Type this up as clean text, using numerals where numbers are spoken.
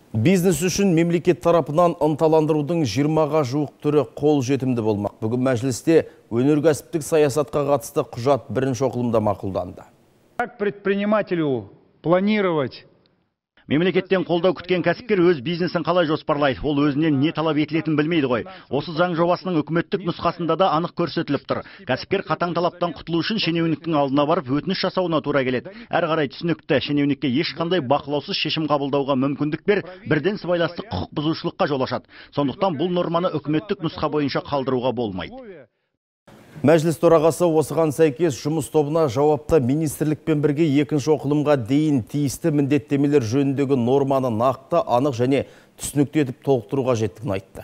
Бизнес үшін мемлекет тарапынан ынталандырудың 20-ға жуық түрі қол жетімді болмақ. Бүгін мәжілісте өнеркәсіптік саясатқа қатысты құжат бірінші оқылымда мақұлданды. Как предпринимателю планировать? Мемлекеттен қолдау күткен кәсіпкер өз бизнесін қалай жоспарлайды, ол өзінен не талап етілетін білмейді ғой. Осы заң жобасының үкіметтік нұсқасында да анық көрсетіліп тұр. Кәсіпкер қатаң талаптан құтылу үшін шенеуніктің алдына барып өтініш жасауына тура келеді. Әрі қарай түсінікті, шенеунікке ешқандай бақылаусыз шешім қабылдауға мүмкіндік бер, бірден сыбайластық құқық бұзушылыққа жол ашады. Сондықтан бұл норманы үкіметтік нұсқа бойынша қалдыруға болмайды. Мәжіліс төрағасы осыған сәйкес жұмыс тобына жауапты министрлікпен бірге екінші оқылымға дейін тиісті міндеттемелер жөніндегі норманы нақты, анық және түсінікті етіп толықтыруға қажеттігін айтты.